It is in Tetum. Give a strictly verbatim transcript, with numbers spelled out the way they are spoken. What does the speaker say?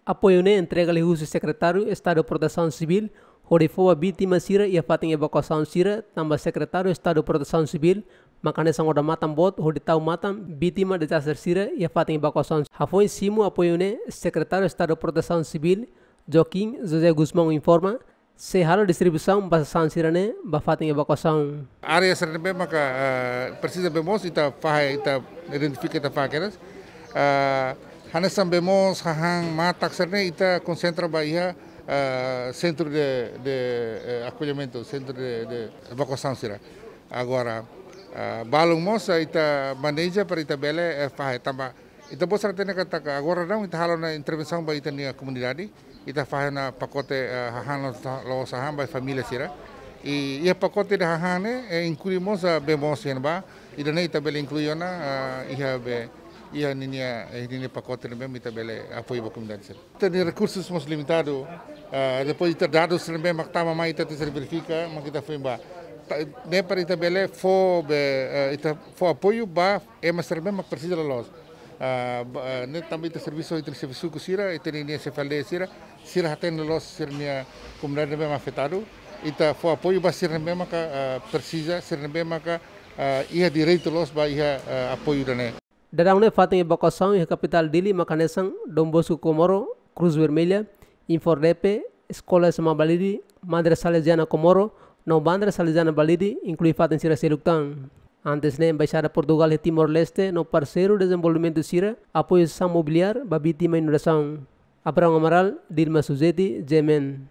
Apoiu ne'e entrega liuhusi Sekretáriu Estadu Protesaun Sivíl hodi fó ba vítima sira iha fatin evakuasaun sira, tanba Sekretáriu Estadu Protesaun Sivíl maka hanesan odamatan boot hodi tau matan vítima dezastre sira iha fatin evakuasaun. Hafoin simu apoiu ne'e, Sekretáriu Estadu Protesaun Sivíl, Joaquim José Gusmão, informa sei halo distribuisaun ba sasán sira-ne'e ba fatin evakuasaun. Área sira ne'ebé maka, ah, presiza bee moos, ita fahe, ita identifika, ita fahe kedas. Ah, hanesan bee moos, hahán, matak sira-ne'e ita konsentra ba iha, ah, sentru de, de, eh, akollimentu, sentru de, de evakuasaun sira. Agora, ah, balun mós, ah, ita maneja para ita bele, eh, fahe tanba ita-boot sira hatene katak agora daudaun ita halo ona intervensaun ba ita-nia komunidade, ita fahe ona pakote, eh, hahán la'ós, la'ós hahán ba família sira. I, iha pakote de hahán ne'e, eh, inklui mós, ah, bee moos iha ne'ebá, ida-ne'e ita bele inklui ona, ah, iha be, iha ninia, eh, ninia pakote ne'ebé mak ita bele apoiu ba komunidade sira. Ita-nia rekursus mós limitadu, ah, depois ita dadus ne'ebé mak tama mai ita tenke verifika, mak ita foin ba. Ta-, ne'e para ita bele fó be, eh, ita fó apoiu ba ema sira ne'ebé mak presiza loloos. Ah, ba, ah, ne'e tanba ita servisu, ita servisu ho sira, ita-nia, nia xefe aldeia sira, sira hatene loloos sira-nia komunidade ne'ebé mak afetadu. Ita fó apoiu ba sira ne'ebé maka, ah, presiza, sira ne'ebé maka, ah, iha direitu loos ba iha, ah, apoiu ida-ne'e. Daudaun ne'e fatin evakuasaun iha kapitál Dili maka hanesan Don Bosco Comoro, Cruz Vermelha, Infordepe, Eskola S M A Balide, Madre Salesiana Comoro, no Bandra Salesiana Balide, inklui fatin sira seluk tan. Antes ne'e, Embaixada Portugál iha Timor-Leste no parseiru dezenvolvimentu sira apoiu sasán mobiliár ba vítima inundasaun. Abraão Amaral, Dilma Suzeti, G M N.